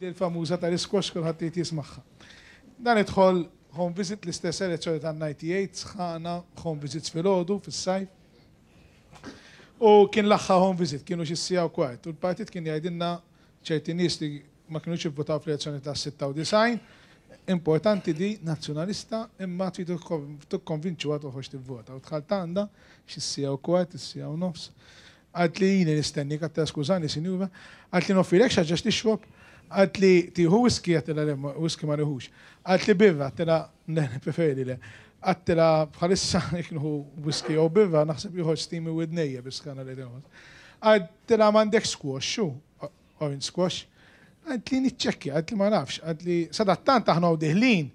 Dil-famuża tal-isquash kulħadd irid jismagħha. Dan idħol home visit l-istess elezzjoni tan-98 sħana home visits filgħodu fis-sajf. U kien l-aħħar home visit, kienu xi siegħa u kwart. U l-partit kien jgħidilna ċerti nies li ma kinux ivvutaw fl-elezzjoni tas-96, importanti di Nazzjonalista imma tridu tikkonvinċuha toħroġ tivvota. U dħalt għandha xi siegħa u kwart, is-siegħa u nofs. Qaltli ili nistennik, għedtilha skużani sinjura, qaltli noffrilek xi ħaġa x'tixrob? Qaltli tieħu whisky? Għedtilha le, whisky ma nieħux. Qaltli birra? Għedtilha le, nippreferi le. Għedtilha bħalissa jekk nieħu whisky jew birra naħseb joħroġ steam minn widnejja bis-sħana li qed inħoss. Għedtilha m'għandekx squash hu? Orange squash? Qaltli niċċekkja, qaltli ma nafx, qaltli sadattant aħna u diħlin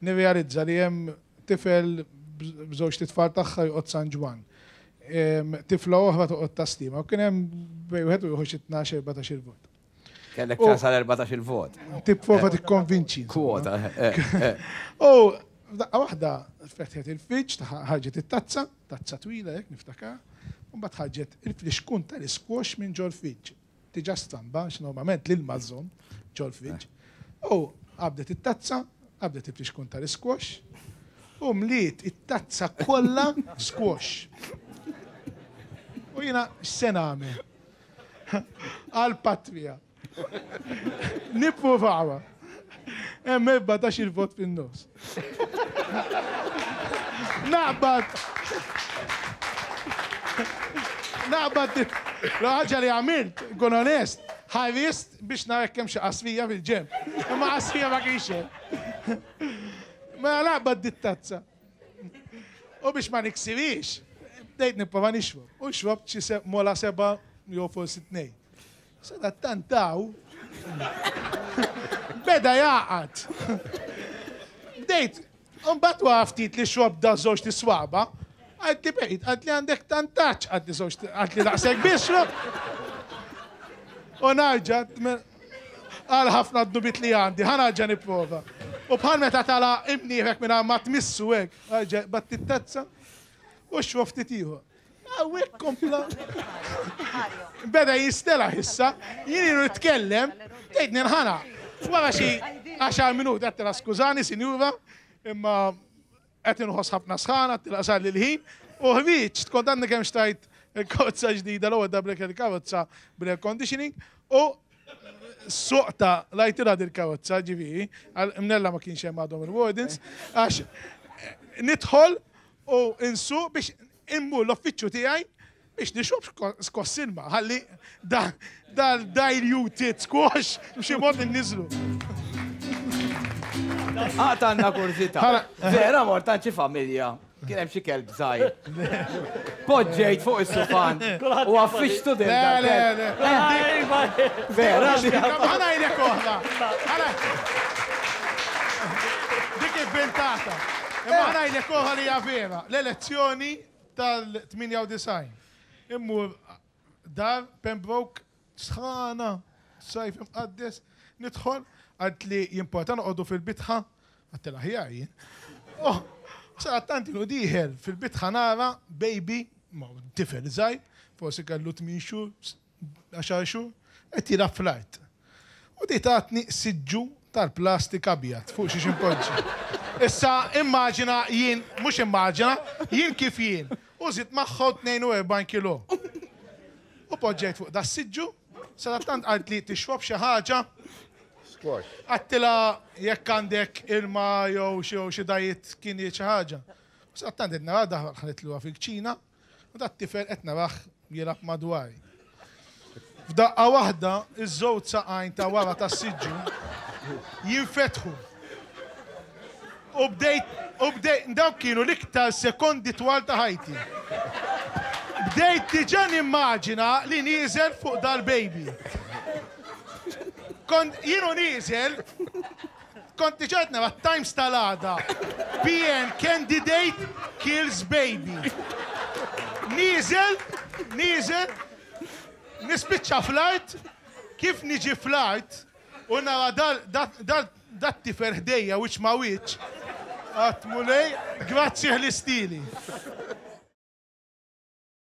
nirrealizza li hemm Tifel b'żewġt itfal tagħha joqgħod San Ġwann. Tifla oħra toqgħod Tas-Sliema. U kien hemm bejn wieħed u ieħor xi tnax, 14-il vot. Kellek ċans għal 14-il vot. Tipprova tikkonvinċi. Kwota. U f'daqqa waħda fetħet il-friġġ, ħarġet it-tazza, tazza twila hekk niftakar, u mbagħad ħarġet il-flixkun tal-isquash minn ġol-friġġ. Diġà stramba għax normalment l-ilma żżomm ġol-friġġ. U qabdet it-tazza, qabdet il-flixkun tal-isquash u mliet it-tazza kollha squash. U jiena x'se nagħmel? Għall-patrija. Nippruvawha. Hemm 14-il vot fin-nofs. Naqbad. Naqbad l-ħaġa li għamilt, nkun onest, ħarist biex nara jekk hemm xi qasrija fil-ġenb. Imma qasrija ma kienx hemm. Mela naqbad dit-tazza. U biex ma niksirix, bdejt nipprova nixrob. U xrobt xi mola seba' jew forsi tnejn. Sadattant hawn beda jagħqad. Bdejt, imbagħad wara ftit li xrobt da żewġt iswaba, qaltli bejt, qaltli għandek tantaċ, qaltli żewġ, qaltli daqshekk biss xrobt. U narġa' għal ħafna dnubiet li għandi, ħa narġa' nipprova. U bħal meta tala' imnieħrek mingħajr ma tmissu hekk, erġa' qbadt it-tazza u xrobt ftit ieħor. Hawnhekk kompla. Beda jistelaħ issa, jien ilu nitkellem, tgħid ninħana. Wara xi għaxar minuti għedtilha skużani sinjura, imma qed inħoss ħafna sħana, għedtilha sarli l-ħin, u ħriġt, kont għadni kemm xtrajt il-karozza ġdida l-ewwel darba li kelli karozza bl-air conditioning, u soqta lajtilha dil-karozza ġifieri, mnella ma kienx hemm għadhom il-wardens, għax nidħol u nsuq biex immur l-uffiċċju tiegħi biex nixrob skoss ilma, ħalli dal-diluted squash b'xi mod inniżlu. Għad għandna kurżità. Vera mort għand xi familja, kien hemm xi kelb żgħir. Poġġejt fuq is-sufan u għaffiġtu din. Le, le, le. Vera. Ħa ngħidlek oħra. Dik ivvintata. Imma ħa ngħidlek oħra li hija vera. L-elezzjoni tal-98. Immur dar Pembroke sħana, sajf imqaddes, nidħol, qaltli jimporta noqogħdu fil-bitħa, għedtilha aħjar jien. Oh, sadattant ilu dieħel fil-bitħa nara baby, tifel żgħir, forsi kellu tmien xhur, għaxar xhur, qed jilgħab fl-art. U di tatni siġġu tal-plastik abjad fuq xiex inpoġġi. Issa immaġina jien, mhux immaġina, jien kif jien, u żidt magħhom 42 kilo. U poġġejt fuq das-siġġu, sadattant qaltli tixrob xi ħaġa? Squash. Għedtilha jekk għandek ilma jew xi diet kien xi ħaġa. U sadattant qed nara daħlet lura fil-kċina, U dat-tifel qed narah jilgħab madwari. F'daqqa waħda, iż-żewġ saqajn ta' wara tas-siġġu jinfetħu. U bdejt, u bdejt, dawk kienu l-iktar sekondi twal ta' ħajti. Bdejt diġà nimmaġina li nieżel fuq dal-baby. Kont, jien u nieżel, Kont diġà qed nara t-Times tal-għada, PN candidate kills baby. Nieżel, nieżel, nispiċċa fl-art, kif niġi fl-art u nara dat-tifel ħdejja wiċċ ma' wiċċ, għedt Mulej, grazzi ħlistili.